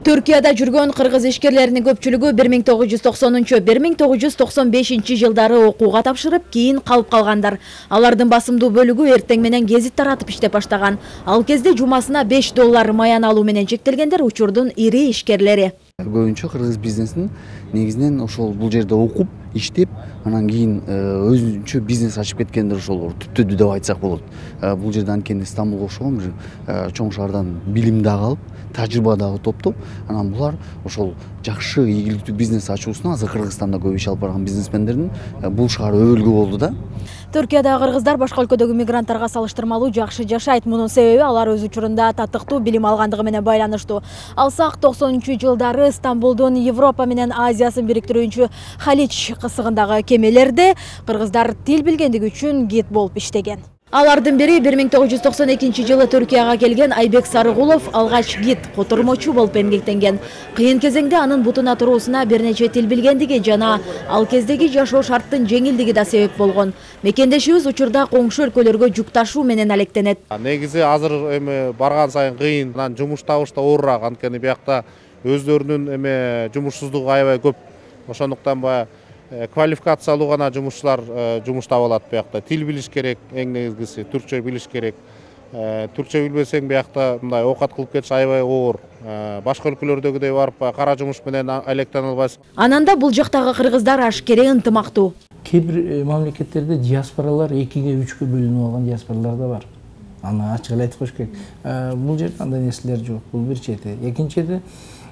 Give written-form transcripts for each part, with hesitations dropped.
Түркияда жүргөн кыргыз ишкерлеринин көпчүлүгү 1990-1995 жылдары окууга тапшырып, кийин калып калгандар. Алардын басымдуу бөлүгү эртең менен гезит таратып иштеп баштаган. Ал кезде жумасына $5 маян алуу менен чектелгендер учурдун ири ишкерлери. Көбүнчө кыргыз бизнесин негизинен ошол бул жерде окуп, иштеп, анан кийин өзүнчө бизнес ачып кеткендер ошол түптүдү деп айтсак болот. Бул жерде анткени Стамбулга окшогон бир чоң шаардан билим дагы алып, тажрыйба дагы топтоп, анан булар ошол жакшы ийгиликтүү бизнес ачуусуна азыр Кыргызстанда көп иш алып барган бизнесмендердин бул шаар өбөлгү болду да. Түркияда кыргыздар башка өлкөдөгү мигранттарга салыштырмалуу жакшы жашайт. Мунун себеби алар өз учурунда татыктуу билим алгандыгы менен байланыштуу. Алсак 90-жылдары Стамбулдун Европа менен Азиясын бириктирүүчү Халич кысыгындагы кемелерде кыргыздар тил билгендиги үчүн гид болуп иштеген. Алардын бири 1992 жылы Түркияга келген Айбек Сарыгулов алгач гид, котормочу болуп эмгектенген. Кыйын кезеңде анын бутуна туруусуна бир нече тил билгендиги жана ал кездеги жашоо шарттын жеңилдиги да себеп болгон. Мекендешибиз учурда коңшу өлкөлөргө жүк ташуу менен алектенет. Негизи азыр барган сайын кыйын, анан жумуш табыш да оорураак, анткени биякта өздөрүнүн жумушсуздугу аябай көп. Ошондуктан баягы квалификациялуу гана жумушчулар жумуш таба алат биякта. Тил билиш керек, эң негизгиси түркчө билиш керек. Түркчө билбесең биякта мындай оокат кылып кетиш аябай оор. Башка өлкөлөрдөгүдөй барып кара жумуш менен алектене албайсың. Анан да бул жактагы кыргыздар ашкере ынтымактуу. Кээ бир мамлекеттерде диаспоралар 2-3-кө бөлүнүп алган диаспоралар да бар. Аны ачык эле айтып коюш керек. Бул жерде андай нерселер жок. Бул бир чети. Экинчиде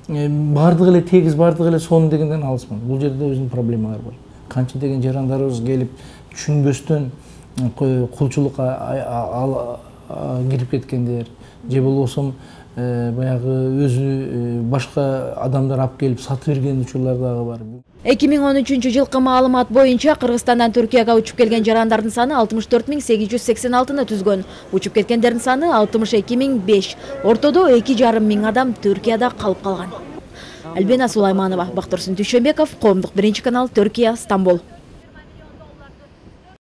бардыгы эле тегиз, бардыгы эле сонун дегенден алысмын. Бул жерде өзүнүн проблемалары бар. Канча деген жарандарыбыз келип түшүнбөстөн кулчулукка кирип кеткендер, же болбосо баягы өзү башка адамдар алып келип сатып берген учурлар дагы бар. 2013 жылкы маалымат боюнча Кыргызстандан Түркияга учуп келген жарандардын саны 64.886-ны түзгөн. Учуп кеткендердин саны 62.005. Ортодо 2,5 миң адам Түркияда калып калган. Альбина Сулайманова, Бактурсун Дүйшөнбеков, Коомдук 1 канал, Түркия, Стамбул.